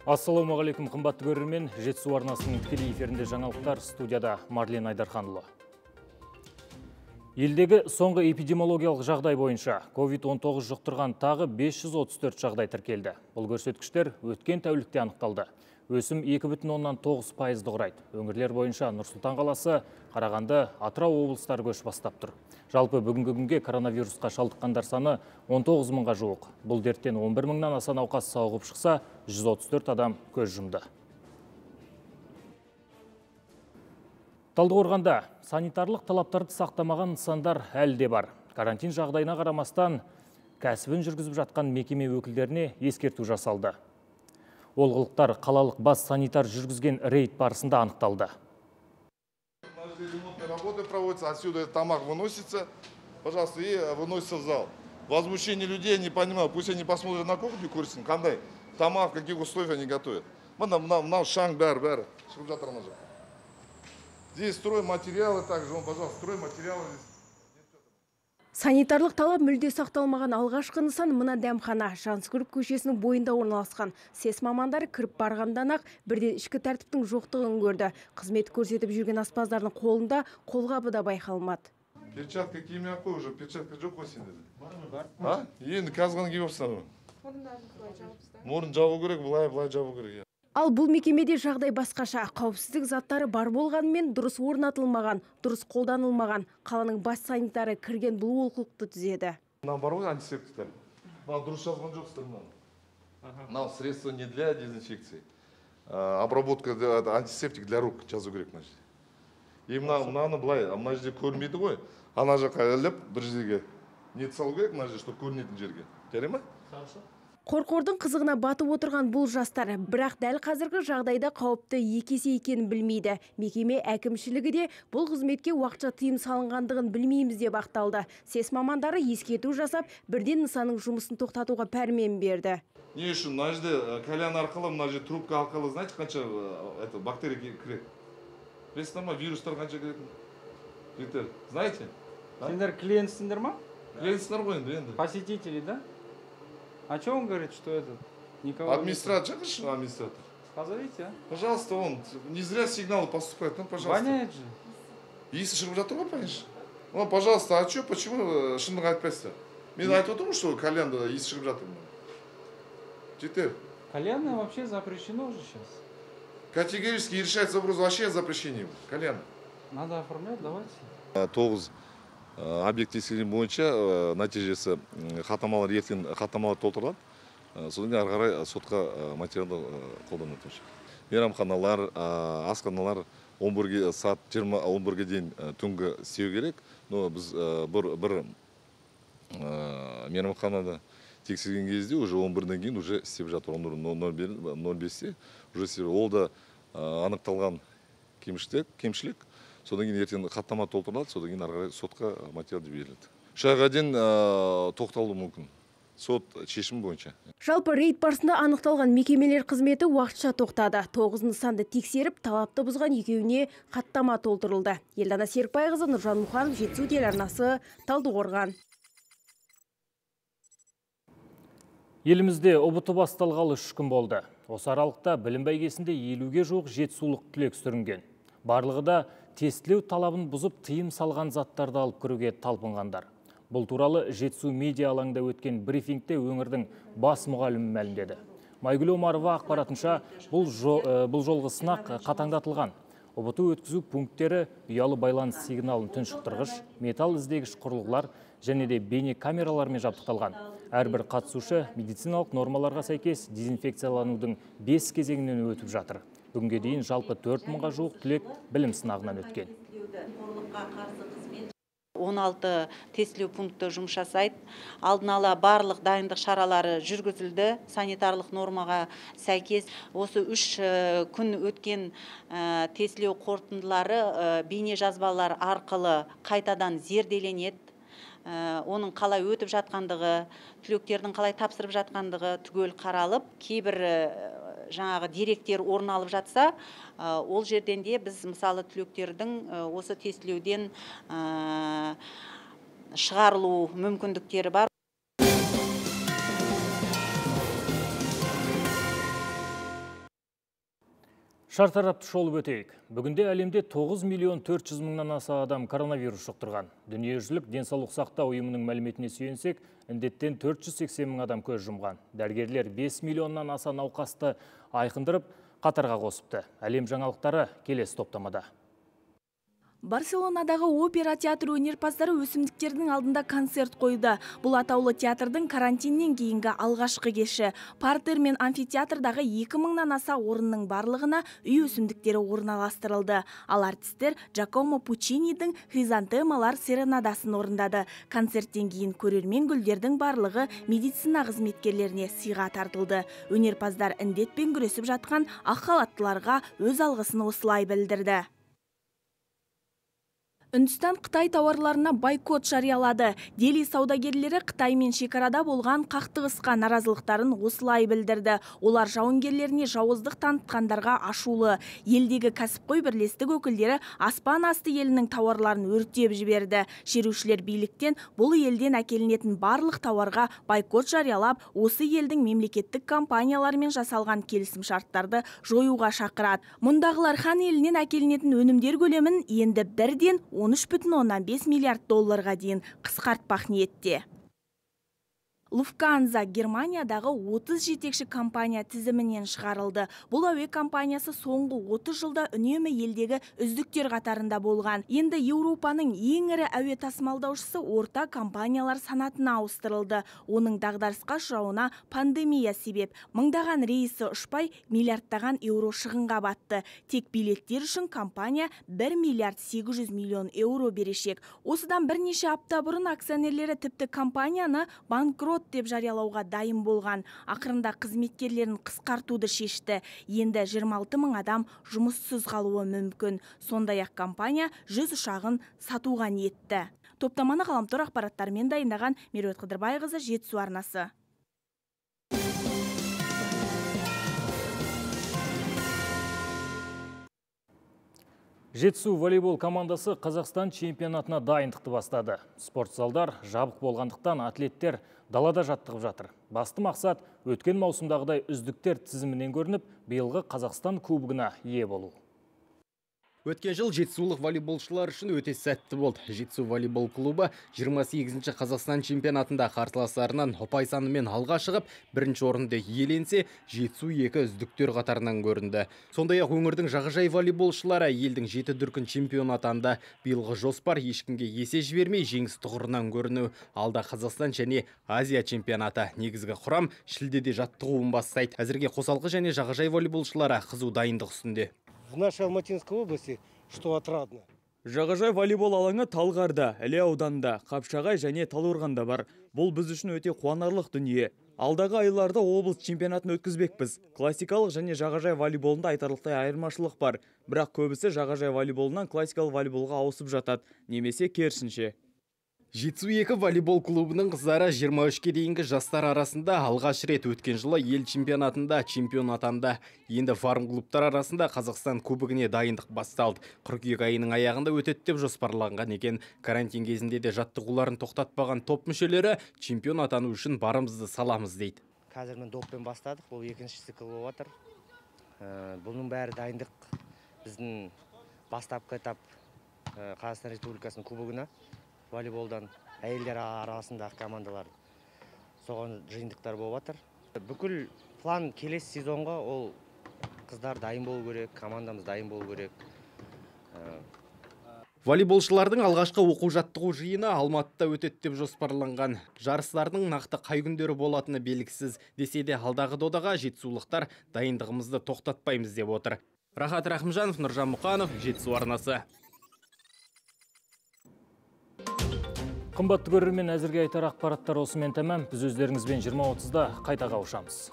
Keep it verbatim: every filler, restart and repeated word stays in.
Ассалаумағалейкум, қымбатты көрермен. Жетісу арнасының тікелей эфирінде жаңалықтар, студияда Марлен Айдарханұлы. Елдегі соңғы эпидемиологиялық жағдай бойынша ковид он тоғыз жұқтырған тағы бес жүз отыз төрт жағдай тіркелді. Бұл көрсеткіштер өткен тәулікте анықталды. Өсім екі бүтін оннан тоғыз пайызды құрайды. Өңірлер бойынша Нұр-Сұлтан қаласы, Қарағанды, Атырау облыстары көш бастап тұр. Жалпы бүгінгі күнге коронавирусқа шалдыққандар саны он тоғыз мыңға жуық. Бұл дерттен он бір мыңнан аса науқас сауығып шықса, жүз отыз төрт адам көз жұмды. Талдықорғанда санитарлық талаптарды сақтамаған нысандар әлі де бар. Карантин жағдайына қарамастан кәсібін жүргізіп жатқан мекеме өкілдеріне ескерту жасалды. Олғылықтар қалалық бас санитар жүргізген рейд барысында анықталды. Работы проводятся, отсюда тамак выносится, пожалуйста, и выносится в зал. Возмущение людей, не понимаю, пусть они посмотрят на кухню курсин, кандай тамак, в каких условиях они готовят. Нам шанг бәр, бәр, шығып жатыр ана жақ. Здесь стройматериалы также, вон, пожалуйста, стройматериалы здесь. Санитарлық талап мүлде сақталмаған алғашқы нысан мына дәмхана. Жансүгіров көшесінің бойында орналасқан. Сес мамандары кіріп барғандан-ақ бірден ішкі тәртіптің жоқтығын көрді. Қызмет көрсетіп жүрген аспаздардың қолында қолғабы да байқалмады. Перчатка киімі қой, уже перчатка жоқ қой сенде. А? Енді қазған киіп алыпсың. Мұрын жабу керек, былай, былай жабу керек. Ал бұл мекемеде жағдай басқаша. Қауіпсіздік заттары бар болғанымен дұрыс орнатылмаған, дұрыс қолданылмаған. Қаланың бас санитары кірген бұл олқылықты түзеді. Мынау бар ғой антисептиктер. Мынау дұрыс жазған жоқсыздар мынау. Мынау средство не для дезинфекции. Обработка антисептик для рук жазу керек мына жерде. И мынаны былай, мына жерде көрмейді ғой. Ана жаққа іліп бір жерге не салу керек мына жерде, чтобы көрінетін жерге. Жарай ма? Қорқордың қызығына батып отырған бұл жастар, бірақ дәл қазіргі жағдайда қауіпті екесе екенін білмейді. Мекеме әкімшілігі де бұл қызметке уақытша тыйым салынғандығын білмейміз деп ақталды. Сес мамандары ескерту жасап, бірден нысанның жұмысын тоқтатуға пәрмен берді. Не үшін, мына жерде кальян арқылы, мына жерде трубка арқылы, знаете, қанша бактерия кіреді? Білесіздер ма, вирустар қанша кіреді? Знаете? Сендер клиентсіңдер ма? Клиентсіңдер ғой енді, енді. Посетители, да? А что он говорит, что этот? Никого администратор, нет? Администратор. Позовите, а? Пожалуйста, он не зря сигналы поступают, ну, пожалуйста. Воняет же. Если шығып жатыр ғой, конечно. Ну, пожалуйста, а что, почему шындық айтпайсыздар? Мен айтып отырмын, что кальянда иіс шығып жатыр. Жетер. Кальянное вообще запрещено уже сейчас. Категорически решается вопрос вообще о запрещении кальяна. Надо оформлять, давайте. тоғыз объект тексерген бойынша нәтижесі хаттамалар ертең хаттамалар толтырылады. Содан кейін ары қарай сотқа материалды қолданады. Мейрамханалар, асханалар он бірге сағат жиырма он бірге дейін түнгі істеу керек. Но біз бір бір мейрамханада тексерген кезде уже он бірден кейін уже істеп жатыр. нөл бесте уже істеп. Ол да анықталған кемшілік. Содан кейін ертең хаттама толтырылады, содан кейін ары қарай сотқа материал беріледі. Үш айға дейін тоқталуы мүмкін. Сот шешімі бойынша. Жалпы рейд барысында анықталған мекемелер қызметі уақытша тоқтады. тоғыз нысанды тексеріп, талапты бұзған екеуіне хаттама толтырылды. Елдана Серікбайқызы, Нұржан Мұханов, Жетісу телеарнасы, Талдықорған. Елімізде ұбт басталғалы үш күн болды. Осы аралықта білім бәйгесінде елуге жуық жетісулық түлек сүрінген. Барлығы да тестілеу талабын бұзып тыйым салған заттарды алып кіруге талпынғандар. Бұл туралы Жетісу медиа алаңда өткен брифингте өңірдің бас мұғалімі мәлімдеді. Майгүл Омарова ақпаратынша бұл жолғы сынақ қатаңдатылған. ұбт өткізу пункттері ұялы байланыс сигналын тұншықтырғыш, металл іздегіш құрылғылар және де бейне камералармен жабдықталған. Әрбір қатысушы медициналық нормаларға сәйкес дезинфекцияланудың бес кезеңінен өтіп жатыр. Бүгінге дейін жалпы төрт мыңға жуық түлек білім сынағынан өткен. он алты тестілеу пункті жұмыс жасайды. Алдын ала барлық дайындық шаралары жүргізілді. Санитарлық нормаға сәйкес осы үш күн өткен тестілеу қорытындылары бейне жазбалар арқылы қайтадан зерделенеді. Оның қалай өтіп жатқандығы, түлектердің қалай тапсырып жатқандығы түгел қаралып, кейбір жаңағы деректер орын алып жатса, ол жерден де біз мысалы түлектердің осы тестілеуден шығарылу мүмкіндіктері бар. Шартарапты шолып өтейік. Бүгінде әлемде тоғыз миллион төрт жүз мыңнан аса адам коронавирус жұқтырған. Дүниежүзілік денсаулық сақтау ұйымының мәліметіне сүйенсек, індеттен төрт жүз сексен мың адам көз жұмған. Дәрігерлер бес миллионнан аса науқасты айқындырып, қатарға қосыпты. Әлем жаңалықтары келесі топтамада. Барселонадағы опера театры өнерпаздары өсімдіктердің алдында концерт қойды. Бұл атаулы театрдың карантиннен кейінгі алғашқы кеші. Партер мен амфитеатрдағы екі мыңнан аса орынның барлығына үй өсімдіктері орналастырылды. Ал артистер Джакомо Пучинидің хризантемалар серенадасын орындады. Концерттен кейін көрермен гүлдердің барлығы медицина қызметкерлеріне сыйға тартылды. Өнерпаздар індетпен күресіп жатқан ақ халаттыларға өз алғысын осылай білдірді. Үндістан Қытай тауарларына бойкот жариялады. Дели саудагерлері Қытаймен шекарада болған қақтығысқа наразылықтарын осылай білдірді. Олар жауынгерлеріне жауыздық танытқандарға ашулы. Елдегі кәсіпқой бірлестік өкілдері аспан асты елінің тауарларын өртеп жіберді. Шерушілер биліктен бұл елден әкелінетін барлық тауарға бойкот жариялап, осы елдің мемлекеттік компаниялармен жасалған келісімшарттарды жоюға шақырады. Мұндағылар хан елінен әкелінетін өнімдер көлемін енді бірден он үш бүтін оннан бес миллиард долларға дейін қысқартпақ ниетте. Lufthansa Германиядағы отыз жетекші компания тізімінен шығарылды. Бұл әуе компаниясы соңғы отыз жылда үнемі елдегі үздіктер қатарында болған. Енді Еуропаның ең ірі әуе тасымалдаушысы орта компаниялар санатына ауыстырылды. Оның дағдарысқа ұшырауына пандемия себеп. Мыңдаған рейсі ұшпай, миллиардтаған еуро шығынға батты. Тек билеттер үшін компания бір миллиард сегіз жүз миллион еуро берешек. Осыдан бірнеше апта бұрын акционерлері тіпті компанияны банкрот деп жариялауға дайын болған. Ақырында қызметкерлерін қысқартуды шешті. Енді жиырма алты мың адам жұмыссыз қалуы мүмкін. Сондай-ақ компания жүз ұшағын сатуға ниетті. Топтаманы ғаламтор ақпараттарымен дайындаған Меруерт Қыдырбайқызы, Жетісу арнасы. Жетісу волейбол командасы Қазақстан чемпионатына дайындықты бастады. Спортзалдар жабық болғандықтан атлеттер далада жаттығып жатыр. Басты мақсат өткен маусымдағыдай үздіктер тізімінен көрініп, биылғы Қазақстан кубогына ие болу. Өткен жыл жетісулық волейболшылар үшін өте сәтті болды. Жетісу волейбол клубы жиырма сегізінші Қазақстан чемпионатында қарсыластарынан ұпай санымен алға шығып, бірінші орынды иеленсе, Жетісу екі үздіктер қатарынан көрінді. Сондай-ақ өңірдің жағажай волейболшылары елдің жеті дүркін чемпион атанды. Биылғы жоспар ешкімге есе жібермей жеңіс тұғырынан көріну. Алда Қазақстан және Азия чемпионаты. Негізгі құрам шілдеде жаттығуын бастайды. Әзірге қосалқы және жағажай волейболшылары қызу дайындық үстінде. В нашей Алматинской области, что отрадно. Жағажай волейбол алаңы Талғарда, Іле ауданында, Қапшағай және Талдықорғанда бар. Бұл біз үшін өте қуанарлық дүние. Алдағы айларда облыс чемпионатын өткізбекпіз. Классикалық және жағажай волейболында айтарлықтай айырмашылық бар. Бірақ көбісі жағажай волейболынан классикалық волейболға ауысып жатады, немесе керісінше. Жетісу екі волейбол клубының қыздары жиырма үшке дейінгі жастар арасында алғаш рет өткен жылы ел чемпионатында чемпион атанды. Енді фарм клубтар арасында Қазақстан кубогіне дайындық басталды. Қыркүйек айының аяғында өтеді деп жоспарланған екен. Карантин кезінде де жаттығуларын тоқтатпаған топ мүшелері чемпион атану үшін барымызды саламыз дейді. Қазір мен доппен бастадық, бұл екінші цикл болып жатыр. Бұның бәрі дайындық біздің бастапқы этап Қазақстан Республикасының кубогына. Волейболдан әйелдер арасындағы командалар соған жиынтықтар болып жатыр. Бүкіл план келесі сезонға ол қыздар дайын болу керек, командамыз дайын болу керек. Волейболшылардың алғашқы оқу жаттығу жиыны Алматыда өтеді деп жоспарланған. Жарыстардың нақты қай күндері болатыны белгісіз. Десе де алдағы додаға жетісулықтар дайындығымызды тоқтатпаймыз деп отыр. Рахат Рахымжанов, Нұржан Мұқанов, Жетісу арнасы. Қымбатты көрермен, әзірге айтар ақпараттар осымен тәмам. Біз өздеріңізбен жиырма отызда қайта қауышамыз.